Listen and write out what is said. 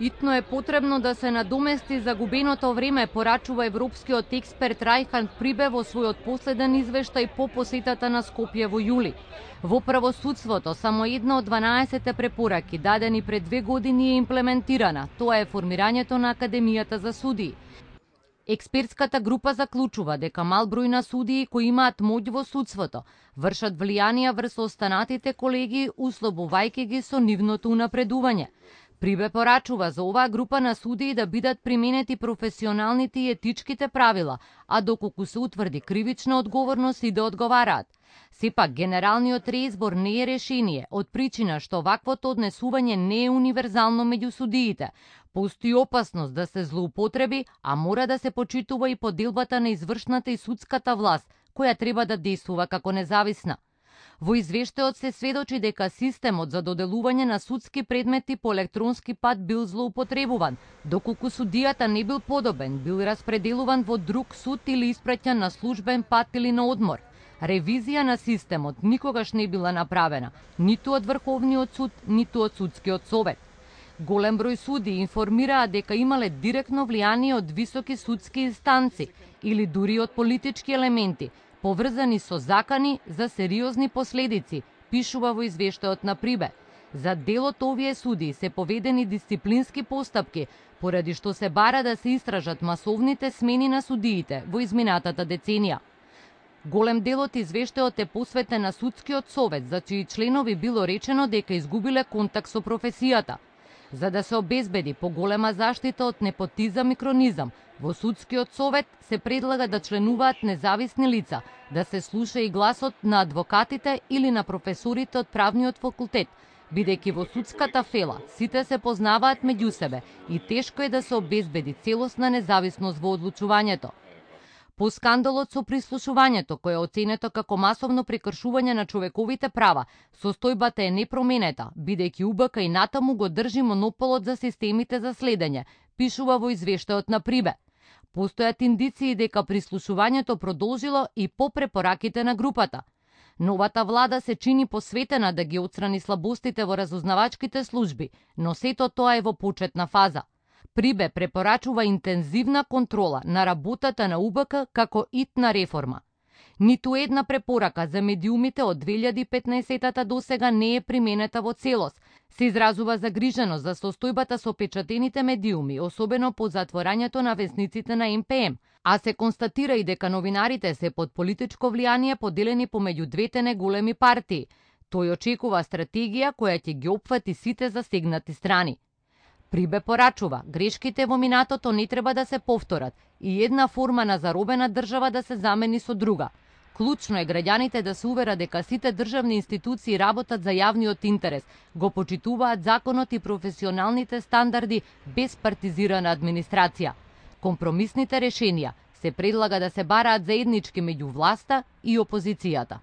Итно е потребно да се надомести загубеното време, порачува европскиот експерт Рајхан Прибе во својот последен извештај по посетата на Скопје во јули. Во правосудството само една од 12 препораки дадени пред 2 години е имплементирана. Тоа е формирањето на Академијата за судии. Експертската група заклучува дека мал број на судии кои имаат моќ во судството вршат влијанија врз останатите колеги, услобувајќи ги со нивното унапредување. Прибе порачува за оваа група на судии да бидат применети професионалните и етичките правила, а доколку се утврди кривична одговорност и да одговараат. Сепак, генералниот реизбор не е решение, од причина што ваквото однесување не е универзално меѓу судиите. Постои опасност да се злоупотреби, а мора да се почитува и поделбата на извршната и судската власт, која треба да действува како независна. Во извештајот се сведочи дека системот за доделување на судски предмети по електронски пат бил злоупотребуван, доколку судијата не бил подобен, бил распределуван во друг суд или испраќан на службен пат или на одмор. Ревизија на системот никогаш не била направена, ниту од Врховниот суд, ниту од Судскиот совет. Голем број судии информираа дека имале директно влијание од високи судски инстанци или дури од политички елементи, поврзани со закани за сериозни последици, пишува во извештајот на Прибе. За дел од овие судии се поведени дисциплински постапки, поради што се бара да се истражат масовните смени на судиите во изминатата деценија. Голем дел од извештајот е посветен на Судскиот совет, за чии членови било речено дека изгубиле контакт со професијата. За да се обезбеди поголема заштита од непотизам и кронизам, во Судскиот совет се предлага да членуваат независни лица, да се слуша и гласот на адвокатите или на професорите од правниот факултет, бидејќи во судската фела сите се познаваат меѓу себе и тешко е да се обезбеди целосна независност во одлучувањето. По скандалот со прислушувањето, кој е оценето како масовно прекршување на човековите права, состојбата е непроменета, бидејќи УБК и натаму го држи монополот за системите за следење, пишува во извештајот на Прибе. Постојат индиции дека прислушувањето продолжило и по препораките на групата. Новата влада се чини посветена да ги отстрани слабостите во разузнавачките служби, но сето тоа е во почетна фаза. Прибе препорачува интензивна контрола на работата на УБК како итна реформа. Ниту една препорака за медиумите од 2015 до сега не е применета во целост. Се изразува загриженост за состојбата со печатените медиуми, особено по затворањето на весниците на МПМ, а се констатира и дека новинарите се под политичко влијание поделени помеѓу двете неголеми партии. Тој очекува стратегија која ќе ги опфати сите засегнати страни. Прибе порачува, грешките во минатото не треба да се повторат и една форма на заробена држава да се замени со друга. Клучно е граѓаните да се уверат дека сите државни институции работат за јавниот интерес, го почитуваат законот и професионалните стандарди без партизирана администрација. Компромисните решенија се предлага да се бараат заеднички меѓу власта и опозицијата.